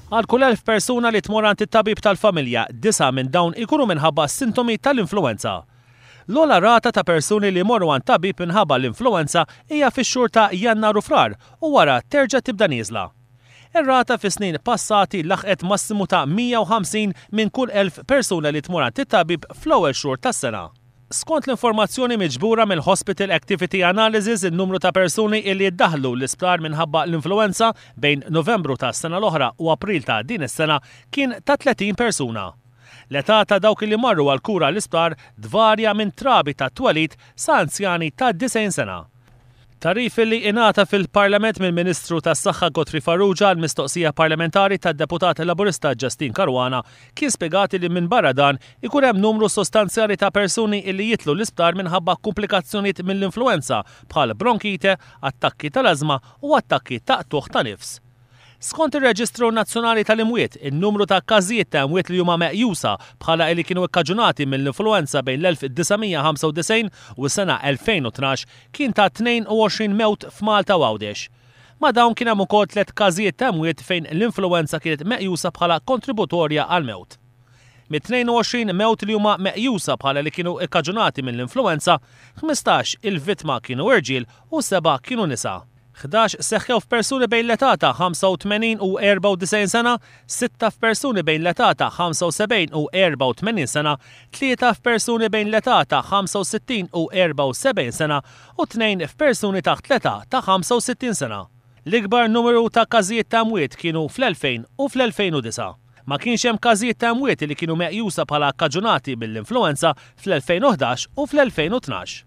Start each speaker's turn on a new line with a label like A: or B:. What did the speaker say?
A: Għal kull 1,000 persuna li tmur għand it-tabib tal-familja, disgħa minn dawn ikunu minħabba sintomi tal-influwenza. L-ogħla rata ta' persuni li jmorru għand tabib minħabba l-influwenza hija fix-xhur ta' Jannar u Frar u wara terġa' tibda nieżla. Ir-rata fi snin passati laħqet massimu ta' 150 minn kull 1,000 persuna li tmur għand it-tabib fl-ewwel xhur tas-sena. Skont l-informazzjoni miġbura mill-Hospital Activity Analysis, in-numru ta' persuni illi ddaħħlu l-isptar minħabba l-influwenza bejn Novembru tas-sena l-oħra u April ta' din is-sena kien ta' 30 persuna. L-età ta' dawk illi marru għall-kura l-isptar tvarja minn trabi tat-twelid sa anzjani ta' 90 sena. Tagħrif li ingħata fil-Parlament mill-Ministru tas-Saħħa Godfrey Farrugia għal mistoqsija parlamentari tad-Deputat Laburista Justyne Caruana kien spjegat li minbarra dan ikun hemm numru sostanzjali ta' persuni illi jidħlu l-isptar minħabba kumplikazzjonijiet mill-influwenza bħal bronkite, attakki tal-ażma u attakki ta' qtugħ ta' nifs. Skont ir-Reġistru Nazzjonali tal-Imwiet, in-numru ta' każijiet ta' imwiet li huma meqjusa bħala li kienu kkaġunati mill-influwenza bejn l-1995 u s-sena 2012 kien ta' 22 mewt f'Malta u Għawdex. Ma' dawn kien hemm ukoll tliet każijiet ta' imwiet fejn l-influwenza kienet meqjusa bħala kontributorja għall-mewt. Mit-22 mewt li huma meqjusa bħala li kienu kkaġunati mill-influwenza, 15 il-vittma kienu irġiel u sebgħa kienu nisa. 11 seħħew f'persuni bejn l-età ta' 85 u 94 sena, sitta f'persuni bejn l-età ta' 75 u 84 sena, tlieta f'persuni bejn l-età ta' 65 u 74 sena u tnejn f'persuni taħt l-età ta' 65 sena. L-ikbar numru ta' każijiet ta' mwiet kienu fl-2000 u fl-2009. Ma kienx hemm każijiet ta' mwiet li kienu meqjusa bħala kkaġunati mill-influwenza fl-2011 u fl-2012.